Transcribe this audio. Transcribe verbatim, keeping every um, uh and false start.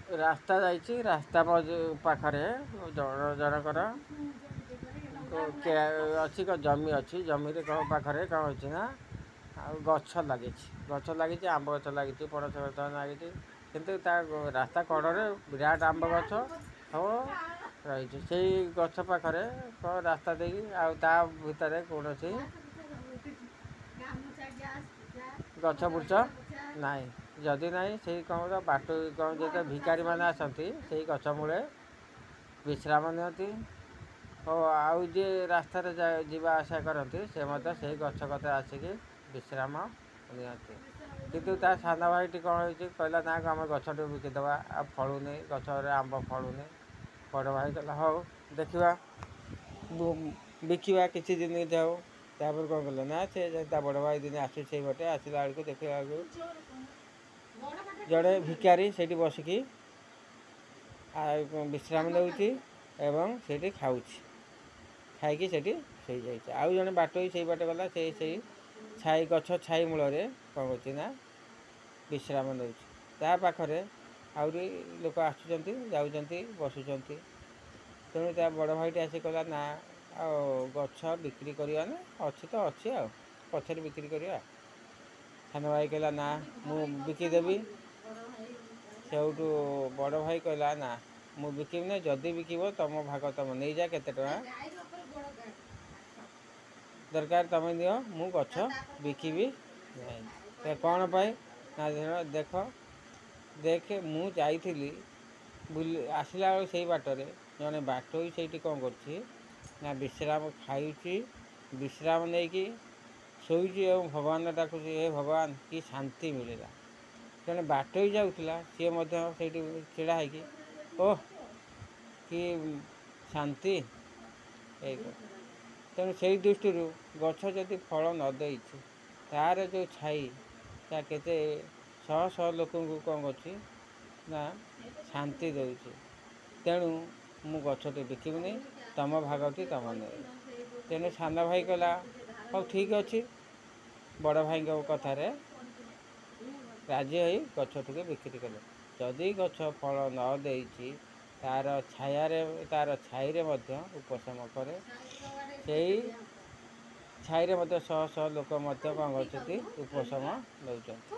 ରାସ୍ତା ଯାଇଛି। ରାସ୍ତା ପାଖରେ ଜଣ ଜଣଙ୍କର ଅଛି, ଜମି ଅଛି। ଜମିରେ କ'ଣ ପାଖରେ କ'ଣ ଅଛି ନା ଆଉ ଗଛ ଲାଗିଛି। ଗଛ ଲାଗିଛି, ଆମ୍ବ ଗଛ ଲାଗିଛି, ପଣସ ଗଛ ଲାଗିଛି। କିନ୍ତୁ ତା ରାସ୍ତା କଡ଼ରେ ବିରାଟ ଆମ୍ବ ଗଛ ସବୁ ରହିଛି। ସେଇ ଗଛ ପାଖରେ କ'ଣ ରାସ୍ତା ଦେଇକି ଆଉ ତା ଭିତରେ କୌଣସି ଗଛ ବୁର୍ଛ ନାହିଁ। ଯଦି ନାହିଁ, ସେଇ କ'ଣ ବାଟୋଇ କ'ଣ ଯେତେ ଭିକାରୀମାନେ ଆସନ୍ତି, ସେଇ ଗଛ ମୂଳେ ବିଶ୍ରାମ ନିଅନ୍ତି ଓ ଆଉ ଯିଏ ରାସ୍ତାରେ ଯିବା ଆସିବା କରନ୍ତି, ସେ ମଧ୍ୟ ସେଇ ଗଛ କତିରେ ଆସିକି ବିଶ୍ରାମ ନିଅନ୍ତି। କିନ୍ତୁ ତା ସାନ ଭାଇଟି କ'ଣ ହେଇଛି, କହିଲା, ନା, ଆମେ ଗଛଟିକୁ ବିକିଦେବା, ଆଉ ଫଳୁନି, ଗଛରେ ଆମ୍ବ ଫଳୁନି। ବଡ଼ ଭାଇ କହିଲା, ହଉ ଦେଖିବା, ବିକିବା, କିଛି ଦିନ ଯାଉ। ତାପରେ କ'ଣ କଲେ ନା ସେ ତା ବଡ଼ ଭାଇ ଦିନେ ଆସୁଛି ସେଇ ବାଟେ। ଆସିଲା ବେଳକୁ ଦେଖିଲା ବେଳକୁ ଜଣେ ଭିକାରୀ ସେଇଠି ବସିକି ଆଉ ବିଶ୍ରାମ ନେଉଛି ଏବଂ ସେଇଠି ଖାଉଛି, ଖାଇକି ସେଇଠି ଶୋଇଯାଇଛି। ଆଉ ଜଣେ ବାଟୋଇ ସେଇ ବାଟେ ଗଲା। ସେଇ ସେଇ ଛାଇ ଗଛ ଛାଇ ମୂଳରେ କ'ଣ କରୁଛି ନା ବିଶ୍ରାମ ନେଉଛି। ତା ପାଖରେ ଆହୁରି ଲୋକ ଆସୁଛନ୍ତି, ଯାଉଛନ୍ତି, ବସୁଛନ୍ତି। ତେଣୁ ତା ବଡ଼ ଭାଇଟି ଆସି କହିଲା, ନା, ଆଉ ଗଛ ବିକ୍ରି କରିବା ନା, ଅଛି ତ ଅଛି, ଆଉ ପଛରେ ବିକ୍ରି କରିବା। ସାନ ଭାଇ କହିଲା, ନା, ମୁଁ ବିକିଦେବି। ସେଇଠୁ ବଡ଼ ଭାଇ କହିଲା, ନା, ମୁଁ ବିକିବି ନା, ଯଦି ବିକିବ ତୁମ ଭାଗ ତୁମ ନେଇଯା, କେତେ ଟଙ୍କା ଦରକାର ତୁମେ ନିଅ, ମୁଁ ଗଛ ବିକିବି ନାହିଁ। କ'ଣ ପାଇଁ ନା, ଦେଖ ଦେଖେ, ମୁଁ ଯାଇଥିଲି ବୁଲି, ଆସିଲା ବେଳକୁ ସେଇ ବାଟରେ ଜଣେ ବାଟୋଇ ସେଇଠି କ'ଣ କରୁଛି ନା ବିଶ୍ରାମ ଖାଉଛି, ବିଶ୍ରାମ ନେଇକି ଶୋଇଛି ଏବଂ ଭଗବାନ ଡାକୁଛି, ହେ ଭଗବାନ, କି ଶାନ୍ତି ମିଳିଲା। ଜଣେ ବାଟୋଇ ଯାଉଥିଲା, ସିଏ ମଧ୍ୟ ସେଇଠି ଛିଡ଼ା ହେଇକି, ଓହ, କି ଶାନ୍ତି, ଏଇ। ତେଣୁ ସେଇ ଦୃଷ୍ଟିରୁ ଗଛ ଯଦି ଫଳ ନ ଦେଇଛି, ତା'ର ଯେଉଁ ଛାଇ ତା କେତେ ଶହ ଶହ ଲୋକଙ୍କୁ କ'ଣ କରୁଛି ନା ଶାନ୍ତି ଦେଉଛି। ତେଣୁ ମୁଁ ଗଛଟି ବିକିବିନି, ତୁମ ଭାଗଟି ତୁମ ନେବ। ତେଣୁ ସାନ ଭାଇ କହିଲା, ହଉ, ଠିକ୍ ଅଛି। ବଡ଼ ଭାଇଙ୍କ କଥାରେ ରାଜି ହୋଇ ଗଛଟିକୁ ବିକ୍ରି କଲେ। ଯଦି ଗଛ ଫଳ ନ ଦେଇଛି, ତା'ର ଛାୟାରେ ତା'ର ଛାଇରେ ମଧ୍ୟ ଉପଶମ କରେ। ସେଇ ଛାଇରେ ମଧ୍ୟ ଶହ ଶହ ଲୋକ ମଧ୍ୟ କ'ଣ କରୁଛନ୍ତି, ଉପଶମ ନେଉଛନ୍ତି।